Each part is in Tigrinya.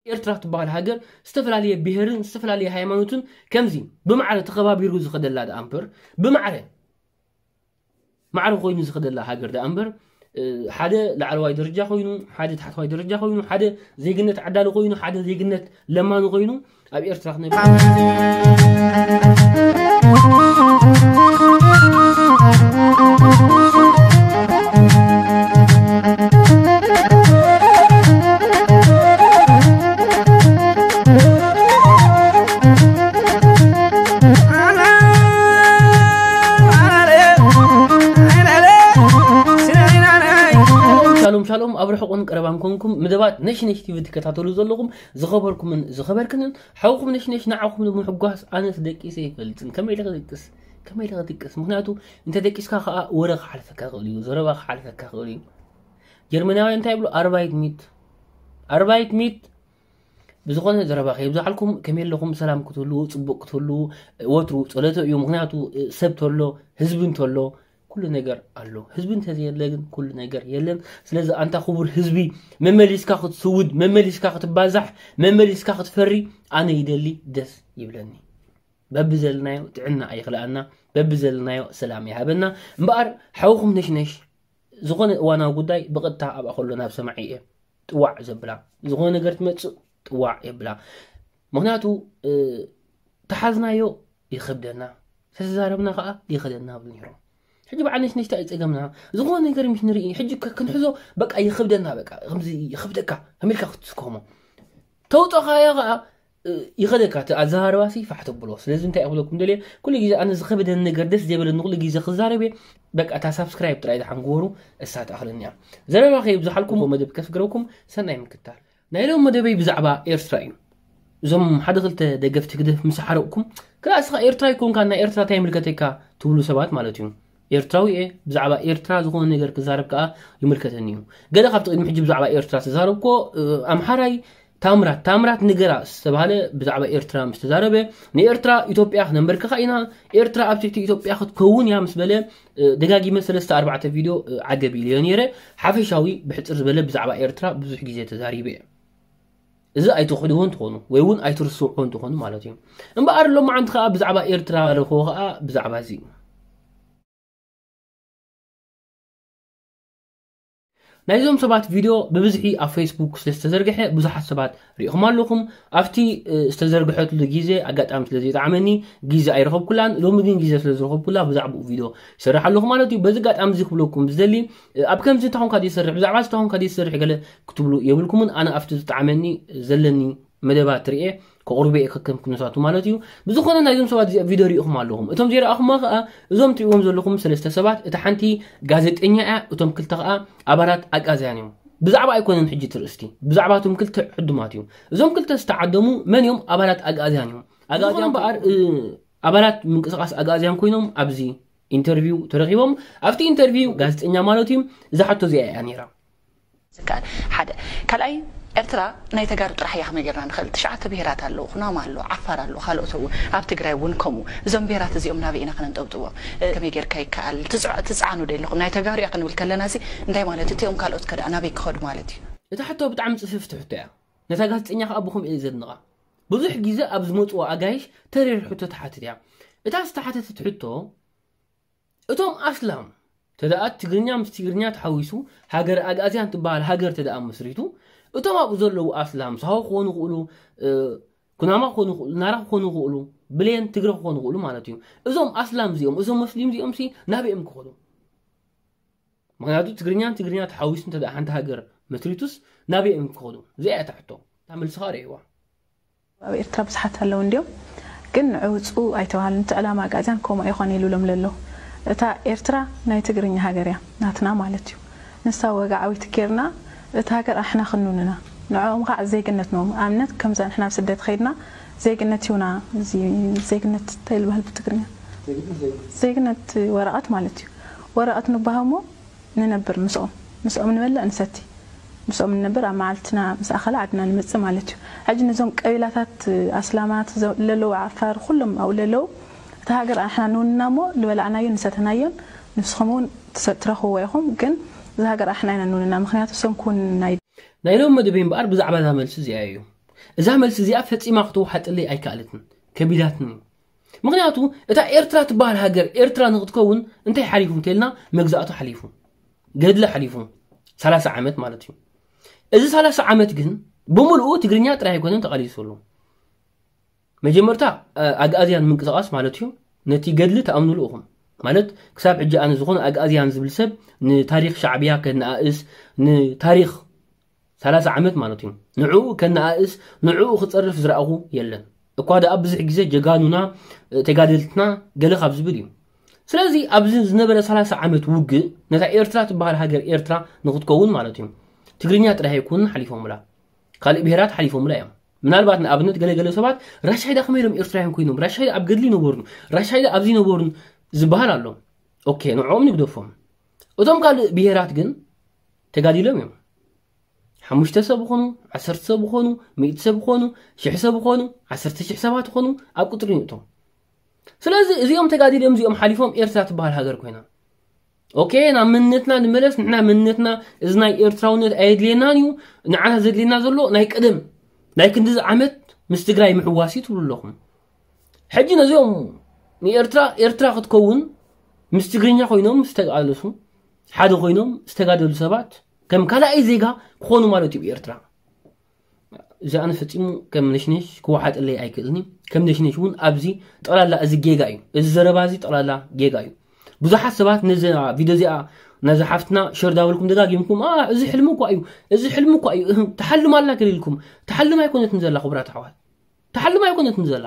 ኤርትራ ትበሃል ሃገር ዝተፈላለየ ብሄርን ዝተፈላለየ ሃይማኖትን ከምዚ ብማዕረ ተኸባቢሩ ዝኸደላ ደኣ እምበር፣ ብማዕረ ማዕረ ኮይኑ ዝኸደላ ሃገር ደኣ እምበር፣ እ፣ ሓደ ላዕለዋይ ደረጃ ኮይኑ፣ ሓደ ታሕተዋይ ደረጃ ኮይኑ፣ ሓደ ዜግነት ዓዳሊ ኮይኑ፣ ሓደ ዜግነት ለማኒ ኮይኑ ኣብ ኤርትራ ክነብር። ሻሎም ሻሎም፣ ኣብ ርሑቕን ቀረባን ኮንኩም መደባት ነሽነሽ ቲቪ ትከታተሉ ዘለኹም ዝኸበርኩምን ዝኸበርክንን ሓውኹም ነሽነሽ፣ ንዓኹም ንምሕጓስ ኣነስ ደቂሰ ይፈልጥን። ከመይ ኢለ ክድቅስ? ከመይ ኢለ ክድቅስ? ምኽንያቱ እንተ ደቂስካ ከኣ ወረ ክሓልፈካ ይኽእል እዩ፣ ዘረባ ክሓልፈካ ይኽእል እዩ። ጀርመናውያን እንታይ ይብሉ? ኣርባይት ሚት፣ ኣርባይት ሚት። ብዝኾነ ዘረባ ከየብዝሓልኩም፣ ከመይ ኣለኹም? ሰላም ክትህልዉ፣ ጽቡቕ ክትህልዉ፣ ወትሩ ጸሎተ እዩ። ምኽንያቱ ሰብ ተሎ፣ ህዝቢ እንተሎ፣ ኩሉ ነገር ኣሎ። ህዝቢ እንተዘየለ ግን ኩሉ ነገር የለን። ስለዚ ኣንታ ክቡር ህዝቢ፣ መመሊስካ ክትስውድ፣ መመሊስካ ክትባዛሕ፣ መመሊስካ ክትፈሪ ኣነ ይደሊ፣ ደስ ይብለኒ። በብዘለናዮ ጥዕና ኣይኽልኣና፣ በብዘለናዮ ሰላም ይሃበና። እምበኣር ሓውኹም ነሽነሽ ዝኾነ እዋናዊ ጉዳይ ብቐጥታ ኣብኣ ከሎ ናብ ሰማዒ እየ ጥዋዕ ዘብላ። ዝኾነ ነገር ትመጽእ ጥዋዕ የብላ። ምኽንያቱ፣ እ፣ ተሓዝናዮ ይኸብደና፣ ተተዛረብና ከኣ ይኸደና ይብሉ ነይሮም። ሕጂ በዓል ነሽነሽታ እዩ ጸገምና። ዝኾነ ነገር ምስ ንርኢ፣ ሕጂ ከ-፣ ክንሕዞ በቃ ይኸብደና፣ በቃ ከምዚ ይኸብደካ፣ ከመይ ኢልካ ክትስከሞ? ተውጠኻዮ ከኣ፣ እ፣ ይኸደካ፣ እቲ ኣዘራርባሲ ፋሕ ተብሎ። ስለዚ እንታይ ክብለኩም ደልየ፣ ኩሉ ግዜ ኣነ ዝኸበደኒ ነገር፣ ደስ ዘይበለኒ ኩሉ ግዜ ክዛረብ እየ። በቃ እታ ሳብስክራይብ ጥራይ ደሓን ግበሩ፣ እሳ ትኣኽለኒ እያ። ዘረባ ከየብዝሓልኩም፣ መደብ ከስግረኩም፣ ሰናይ ምክታል። ናይ ሎም መደበይ ብዛዕባ ኤርትራ እዩ። እዞም ሓደ ክልተ ደገፍቲ ህግደፍ ምስ ሓረቕኩም፣ ከኣ እስኻ ኤርትራ ኣይኮንካን፣ ናይ ኤርትራ እንታይ ይምልከተካ ትብሉ ሰባት ማለት እዩ። ኤርትራዊ እየ፣ ብዛዕባ ኤርትራ ዝኾነ ነገር ክዛረብ ከኣ ይምልከተኒ እዩ። ገለ ካብቲ ቅድሚ ሕጂ ብዛዕባ ኤርትራ ዝተዛረብኮ፣ እ፣ ኣምሓራይ ታምራት፣ ታምራት ንገራ ዝተባህለ ብዛዕባ ኤርትራ ምስ ተዛረበ፣ ንኤርትራ ኢትዮጵያ ክነንበርክኻ ኢና፣ ኤርትራ ኣብ ትሕቲ ኢትዮጵያ ክትከውን እያ ምስ በለ፣ እ፣ ደጋጊመ ሰለስተ ኣርባዕተ ቪድዮ፣ እ፣ ዓገብ ኢለዮ ነይረ። ሓፈሻዊ ብሕጽር ዝበለ ብዛዕባ ኤርትራ ብዙሕ ግዜ ተዛሪበ እየ። እዚ ኣይትኽሕድዎ እንትኾኑ ወይ እውን ኣይትርስዕዎ እንትኾኑ ማለት እዩ። እምበኣር ሎማዓንቲ ከኣ ብዛዕባ ኤርትራ ረኽቦ ከኣ ብዛዕባ እዚ እዩ። ናይዞም ሰባት ቪድዮ ብብዝሒ ኣብ ፌስቡክ ስለ ዝተዘርግሐ ብዙሓት ሰባት ሪኢኹም ኣለኹም። ኣብቲ፣ እ፣ ዝተዘርግሐትሉ ግዜ ኣጋጣሚ ስለ ዘይጠዓመኒ ግዜ ኣይረኸብኩላን። ሎሚ ግን ግዜ ስለ ዝረኸብኩላ ብዛዕባኡ ቪድዮ ይሰርሕ ኣለኹ ማለት እዩ። በዚ ኣጋጣሚ እዚ ክብለኩም ዝደሊ፣ እ፣ ኣብ ከምዚ እንተኾንካ ዘይሰርሕ፣ ብዛዕባ እዚ እንተኾንካ ዘይሰርሕ ገለ ክትብሉ የብልኩምን። ኣነ ኣብቲ ዝጠዓመኒ ዘለኒ መደባት ርኤ ከቕርቦ እየ ከከም ኩነታቱ ማለት እዩ። ብዝኾነ ናይዞም ሰባት እዚኣ ቪድዮ ሪኢኹም ኣለኹም። እቶም ዘይረኣኹማ ከኣ እዞም ትሪእዎም ዘለኹም ሰለስተ ሰባት፣ እታ ሓንቲ ጋዜጠኛ እያ፣ እቶም ክልተ ከኣ ኣባላት ኣግኣዝያን እዮም። ብዛዕባ ኣይኮነን ሕጂ እቲ ርእስቲ፣ ብዛዕባ እቶም ክልተ ዕዱማት እዩ። እዞም ክልተ ዝተዓደሙ መን እዮም? ኣባላት ኣግኣዝያን እዮም። ኣግኣዝያን እምበኣር፣ እ፣ ኣባላት ምንቅስቓስ ኣግኣዝያን ኮይኖም ኣብዚ ኢንተርቪው ተረኺቦም። ኣብቲ ኢንተርቪው ጋዜጠኛ ማለት እዩ፣ እዛ ሕቶ እዚኣ እያ ነይራ። ዝከኣል ሓደ። ካልኣይ፣ ኤርትራ ናይ ተጋሩ ጥራሕ እያ ክመይ ጌርና ንኽእል? ትሽዓተ ብሄራት ኣለዉ፣ ኩናማ ኣሎ፣ ዓፋር ኣሎ፣ ካልኦት እውን፣ ኣብ ትግራይ እውን ከምኡ። እዞም ብሄራት እዚኦም ናበይ ኢና ክነንጠብጥቦም? እ፣ ከመይ ጌርካ ይከኣል? ትጽዕ-፣ ትጽዓኑ ዶ ኣለኹም? ናይ ተጋሩ እያ ክንብል ከለና እዚ እንታይ ማለት እዩ? እቲኦም ካልኦት ከ ደኣ ናበይ ክኸዱ ማለት እዩ? እታ ሕቶ ብጣዕሚ ጽፍፍቲ ሕቶ እያ። ነታ ጋዜጠኛ ከኣ ብኸምኡ እየ ዘድንቓ። ብዙሕ ግዜ ኣብ ዝመጽዋ ኣጋይሽ ተሪር ሕቶ ትሓትት እያ። እታ ዝተሓተተት ሕቶ፣ እቶም ኣስላም ተደኣ ትግርኛ ምስ ትግርኛ ተሓዊሱ ሃገረ ኣግኣዝያን ትበሃል ሃገር ተደኣ መስሪቱ፣ እቶም ኣብኡ ዘለዉ ኣስላም ሳሆ ክኾኑ ይኽእሉ፣ እ፣ ኩናማ ክኾኑ ይኽእሉ፣ ናራ ክኾኑ ይኽእሉ፣ ብሌን ትግረ ክኾኑ ይኽእሉ ማለት እዩ። እዞም ኣስላም እዚኦም፣ እዞም መስሊም እዚኦም ሲ ናበይ እዮም ክኸዱ? ምኽንያቱ ትግርኛን ትግርኛ ተሓዊሱ እንተ ደኣ ሓንቲ ሃገር መስሪቱስ ናበይ እዮም ክኸዱ? እዚኣ እያ እታ ሕቶ። እታ መልስኻ ርእይዋ። ኣብ ኤርትራ ብዙሓት ኣለዉ እንድዮም፣ ግን ንዑ ውጽኡ ኣይተባህሉን። እቲ ዕላማ ኣግኣዝያን ከምኡ ኣይኮነ ኢሉ ኢሎም ለለዉ። እታ ኤርትራ ናይ ትግርኛ ሃገር እያ፣ ናትና ማለት እዩ። ንሳ ወግዓዊት ጌርና፣ እታ ሃገር ኣሕና ክንውንና። ንዕኦም ኸዓ ዜግነት ንህቦም። ኣብነት፣ ከምዛ ንሕና ኣብ ስደት ኸይድና፣ ዜግነት ይሁና፣ እዚ ዜግነት እንታይ ይበሃል ብትግርኛ? ዜግነት ወረቐት ማለት እዩ። ወረቐት ንበሃሞ፣ ንነብር ምስኦም፣ ምስኦም ንበልዕ ንሰቲ፣ ምስኦም ንነብር፣ ኣብ መዓልትና ምስ ኣኸለ ዓድና ንመጽእ ማለት እዩ። ሕጂ ነዞም ቀቢላታት ኣስላማት ዘ-፣ ለለዉ ዓፋር ኩሎም ኣብኡ ለለዉ፣ እታ ሃገር ኣሕና ንውንና እሞ ዝበላዕናዮን ዝሰተናዮን ንስኹም እውን ትሰ-፣ ትረኽብዎ ኢኹም፣ ግን እዛ ሃገር ኣሕና ኢና ንውንና፣ ምኽንያቱ እሶም ክውንና ናይ ናይ ሎም መደበይ እምበኣር ብዛዕባ እዛ መልሲ እዚኣ እዩ። እዛ መልሲ እዚኣ ፈጺማ ክትወሓጠለይ ኣይከኣለትን፣ ከቢዳትኒ። ምኽንያቱ እታ ኤርትራ ትበሃል ሃገር ኤርትራ ንክትከውን እንታይ ሓሊፉ እንተልና፣ መግዛእቱ ሓሊፉ፣ ገድሊ ሓሊፉ፣ ሰላሳ ዓመት ማለት እዩ። እዚ ሰላሳ ዓመት ግን ብምልኡ ትግርኛ ጥራይ ኣይኮነን ተቓሊሱ ዘሎ። መጀመርታ ኣግኣዝያን ምንቅስቃስ ማለት እዩ። ነቲ ገድሊ ተኣምኑሉ ኢኹም ማለት፣ ክሳብ ሕጂ ኣነ ዝኾነ ኣግኣዝያን ዝብል ሰብ ንታሪኽ ሻዕብያ ከነኣእስ፣ ንታሪኽ ሰላሳ ዓመት ማለት እዩ፣ ንዕኡ ከነኣእስ፣ ንዕኡ ክጸርፍ ዝረኣኹ የለን። እኳ ደኣ ብዙሕ ግዜ ጀጋኑና፣ ተጋደልትና ገለ ካብ ዝብል እዩ። ስለዚ ኣብዚ ዝነበረ ሰላሳ ዓመት ውግእ ነታ ኤርትራ ትበሃል ሃገር ኤርትራ ንክትከውን ማለት እዩ፣ ትግርኛ ጥራይ ኣይኮኑን ሓሊፎምላ፣ ካልእ ብሄራት ሓሊፎምላ እዮም። ምናልባት ንኣብነት ገለገለ ሰባት ራሻይዳ ከመይ ኢሎም ኤርትራውያን ኮይኖም፣ ራሻይዳ ኣብ ገድሊ ነበሩን፣ ራሻይዳ ኣብዚ ነበሩን ዝበሃል ኣሎ። ኦኬ፣ ንዕኦም ንግደፎም። እቶም ካልእ ብሄራት ግን ተጋዲሎም እዮም። ሓሙሽተ ሰብ ይኾኑ፣ ዓሰርተ ሰብ ይኾኑ፣ ሚእቲ ሰብ ይኾኑ፣ ሽሕ ሰብ ይኾኑ፣ ዓሰርተ ሽሕ ሰባት ይኾኑ፣ ኣብ ቁፅሪ ንእቶም። ስለዚ እዚኦም ተጋዲሎም እዚኦም ሓሊፎም ኤርትራ ትበሃል ሃገር ኮይና። ኦኬ፣ ናብ መንነትና ንመለስ። ንሕና መንነትና፣ እዚ ናይ ኤርትራውነት ኣየድልየናን እዩ። ንዓና ዘድልየና ዘሎ ናይ ቀደም ናይ ክንድዚ ዓመት ምስ ትግራይ ምሕዋስ እዩ ትብሉ ኣለኹም። ሕጂ ነዚኦም ንኤርትራ ኤርትራ ክትከውን ምስ ትግርኛ ኮይኖም ዝተቃለሱ፣ ሓደ ኮይኖም ዝተጋደሉ ሰባት ከም ካልኣይ ዜጋ ክኾኑ ማለት እዩ ብኤርትራ። እዚ ኣነ ፈጺሙ ከም ነሽነሽ ክወሓጠለይ ኣይክእልኒ። ከም ነሽነሽ እውን ኣብዚ ጠቕላላ እዚ ጌጋ እዩ። እዚ ዘረባ እዚ ጠቕላላ ጌጋ እዩ። ብዙሓት ሰባት ነዚ ቪድዮ እዚኣ ነዚ ሓፍትና ሸር ዳበልኩም ደጋጊምኩም፣ "ኣ፣ እዚ ሕልሚ እኳ እዩ፣ እዚ ሕልሚ እኳ እዩ፣ እህ፣ ተሓልም ኣላ" ገለ ኢልኩም። ተሓልም ኣይኮነትን ዘላ፣ ክቡራት ኣሕዋት። ተሓልም ኣይኮነትን ዘላ።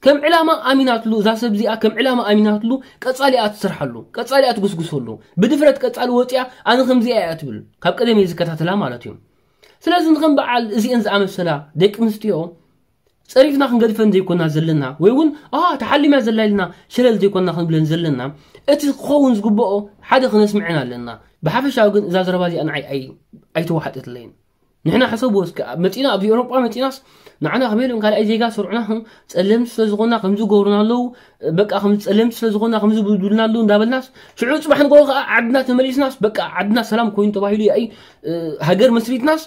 ከም ዕላማ ኣሚናትሉ፣ እዛ ሰብ እዚኣ ከም ዕላማ ኣሚናትሉ፣ ቀጻሊ እያ ትሰርሓሉ፣ ቀጻሊ እያ ትጉስጉሰሉ። ብድፍረት ቀጻሊ ወጺኣ፣ "ኣነ ከምዚ እያ" እያ ትብል። ካብ ቀደም እየ ዝከታተላ ማለት እዩ። ስለዚ ንኸም በዓል እዚአን ዝኣመሰላ ደቂ ኣንስትዮ ጸሪፍና ክንገድፈን ዘይኮና ዘለና፣ ወይ እውን፣ "ኣ፣ ተሓሊማ ዘላ" ኢልና ሸለል ዘይኮና ክንብለን ዘለና፣ እቲ ክኸውን ዝግብኦ ሓደ ክነስምዐን ኣለና። ብሓፈሻዊ ግን እዛ ዘረባ እዚኣ ንዓይ ኣይ-፣ ኣይተዋሓጠትለይን። ንሕና ሕሰብዎ እስከ፣ ኣብ መጺና፣ ኣብዚ ኤውሮጳ መጺናስ ንዓና ከመይ ኢሎም ካልኣይ ዜጋ ሰርዑና፣ ህም፣ ጸለምቲ ስለ ዝኾንና ከምዚ ይገብሩና ኣለዉ፣ በቃ ከምዚ ጸለምቲ ስለ ዝኾንና ከምዚ ይብሉና ኣለዉ እንዳበልናስ፣ ሽዑ ጽባሕ ንግሆ ከኣ ዓድና ተመሊስናስ፣ በቃ ዓድና ሰላም ኮይኑ ተባሂሉ ያኢ፣ እ፣ ሃገር መስሪትናስ፣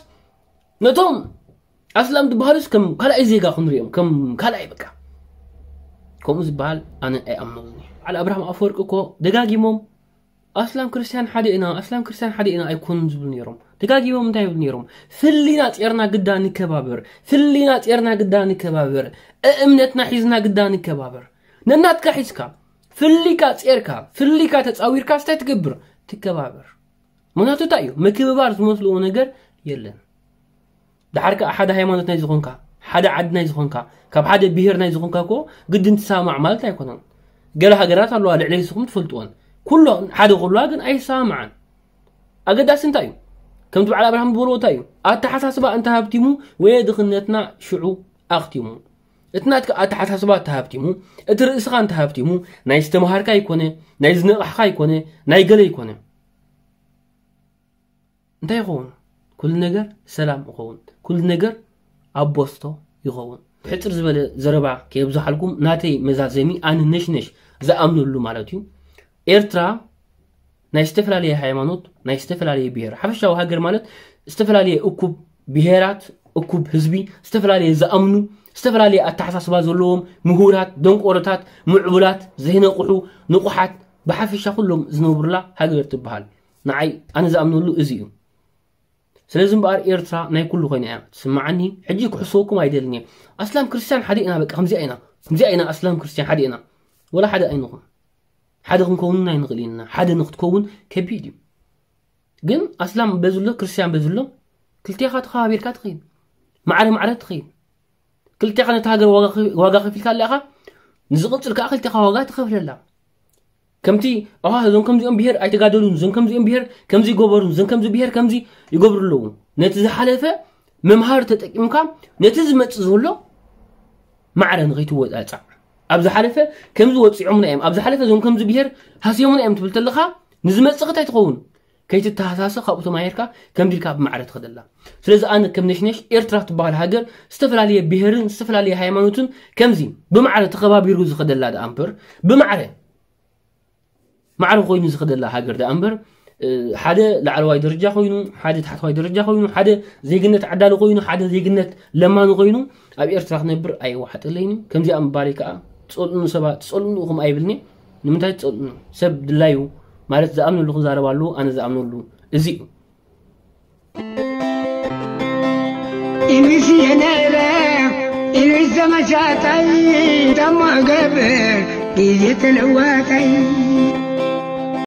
ነቶም ኣስላም ዝበሃሉስ ከም ካልኣይ ዜጋ ክንሪኦም፣ ከም ካልኣይ በቃ። ከምኡ ዝበሃል ኣነ ኣይኣምነሉን እየ። በዓል ኣብርሃም ኣፈወርቂ እኮ ደጋጊሞም ኣስላም ክርስቲያን ሓደ ኢና፣ ኣስላም ክርስቲያን ሓደ ኢና ኣይኮኑን ዝብሉ ነይሮም። ደጋጊሞም እንታይ ይብሉ ነይሮም? "ፍሊና ጼርና ግዳ ንከባበር፣ ፍሊና ጼርና ግዳ ንከባበር፣ እእምነትና ሒዝና ግዳ ንከባበር።" ነናትካ ሒዝካ፣ ፍሊካ ጼርካ፣ ፍሊካ ተጻዊርካ ስታይ ትገብር? ትከባበር። ምኽንያቱ እንታይ እዩ? ምክብባር ዝመስልዎ ነገር የለን። ደሓር ከኣ ሓደ ሃይማኖት ናይ ዝኾንካ፣ ሓደ ዓዲ ናይ ዝኾንካ፣ ካብ ሓደ ብሄር ናይ ዝኾንካ እኮ ግድን ትሰማማዕ ማለት ኣይኮነን። ገለ ሃገራት ኣለዋ ልዕሊ ንስኹም ትፈልጥወን። ኩሎ ሓደ ኩሉዋ ግን ኣይሰማማዓን። ኣገዳሲ እንታይ እዩ? ከምቲ በዓል ኣብርሃም ዝበልዎ እንታይ እዩ? ኣተሓሳስባ እንተሃብቲሙ ወይ ድኽነትና ሽዑ ኣኽቲሙ። እቲ ናትካ ኣተሓሳስባ እንተሃብቲሙ፣ እቲ ርእስኻ እንተሃብቲሙ፣ ናይ ዝተምሃርካ ይኮነ፣ ናይ ዝነቕሕካ ይኮነ፣ ናይ ገለ ይኮነ። እንታይ ይኸውን? ኩሉ ነገር ሰላም ይኸውን። ኩሉ ነገር ኣብ ቦስቶ ይኸውን። ሕጽር ዝበለ ዘረባ ከየብዝሓልኩም፣ ናተይ መዛዘሚ ኣነ ነሽነሽ ዝኣምነሉ ማለት እዩ። ኤርትራ ናይ ዝተፈላለየ ሃይማኖት፣ ናይ ዝተፈላለየ ብሄር፣ ሓፈሻዊ ሃገር ማለት ዝተፈላለየ እኩብ ብሄራት፣ እኩብ ህዝቢ፣ ዝተፈላለየ ዝኣምኑ፣ ዝተፈላለየ ኣተሓሳስባ ዘለዎም፣ ምሁራት፣ ደንቆሮታት፣ ምዕቡላት፣ ዘይነቕሑ፣ ንቑሓት፣ ብሓፈሻ ኩሎም ዝነብሩላ ሃገር ትበሃል። ንዓይ ኣነ ዝኣምነሉ እዚ እዩ። ስለዚ እምበኣር ኤርትራ ናይ ኩሉ ኮይና እያ ትስምዓኒ። ሕጂ ክሕሰወኩም ኣይደልን እየ። ኣስላም ክርስቲያን ሓደ ኢና፣ በቃ ከምዚኣ ኢና፣ ከምዚኣ ኢና፣ ኣስላም ክርስቲያን ሓደ ኢና። ወላ ሓደ ኣይንኹን። ሓደ ክንከውን ኣይንኽእል ኢና። ሓደ ንክትከውን ከቢድ እዩ። ግን ኣስላም በዝሎ፣ ክርስቲያን በዝሎ፣ ክልቴኻ ተኸባቢርካ ትኸይድ። ማዕረ ማዕረ ትኸይድ። ክልቴኻ ነቲ ሃገር ዋጋ ከ-፣ ዋጋ ከፊልካ ኣለኻ፣ ንዝቕጽል ከኣ ክልቴኻ ዋጋ ትኸፍለላ። ከምቲ፣ ኣዋ፣ እዞም ከምዚኦም ብሄር ኣይተጋደሉን፣ እዞም ከምዚኦም ብሄር ከምዚ ይገበሩን፣ እዞም ከምዚ ብሄር ከምዚ ይገብሩ ኣለዉ። ነቲ ዝሓለፈ መምሃሪ ተጠቂምካ፣ ነቲ ዝመጽእ ዘሎ ማዕረ ንኸይትወጻጻዕ። ኣብ ዝሓለፈ ከምዚ ወጺዖምና እዮም፣ ኣብ ዝሓለፈ እዞም ከምዚ ብሄር ሃስዮምና እዮም ትብል ተለኻ፣ ንዝመጽእ እንታይ ትኸውን? ከይትተሃሳሰ ካብኡ ተማሂርካ ከምዚ ኢልካ ብማዕረ ትኸደላ። ስለዚ ኣነ ከም ነሽነሽ ኤርትራ ትበሃል ሃገር ዝተፈላለየ ብሄርን ዝተፈላለየ ሃይማኖትን ከምዚ ብማዕረ ተኸባቢሩ ዝኸደላ ደኣ እምበር፣ ብማዕረ ማዕረ ኮይኑ ዝኸደላ ሃገር ደኣ እምበር፣ ሓደ ላዕለዋይ ደረጃ ኮይኑ፣ ሓደ ታሕተዋይ ደረጃ ኮይኑ፣ ሓደ ዜግነት ዓዳሊ ኮይኑ፣ ሓደ ዜግነት ለማኒ ኮይኑ ኣብ ኤርትራ ክነብር ኣይዋሓጠለይን። ከምዚኣ ምባለይ ከዓ ትጸልኡኒ ሰባት፣ ትጸልኡኒ ኢኹም ኣይብልኒ። ንምንታይ ትጸልኡኒ? ሰብ ድላዩ ማለት ዝኣምነሉ ክዛረብ ኣለዎ፣ ኣነ ዝኣምነሉ እዚ እዩ። ኢሉስ የነረ ኢሉስ ዘመሻጣይ ተማገብ ግዜ ተለዋጣይ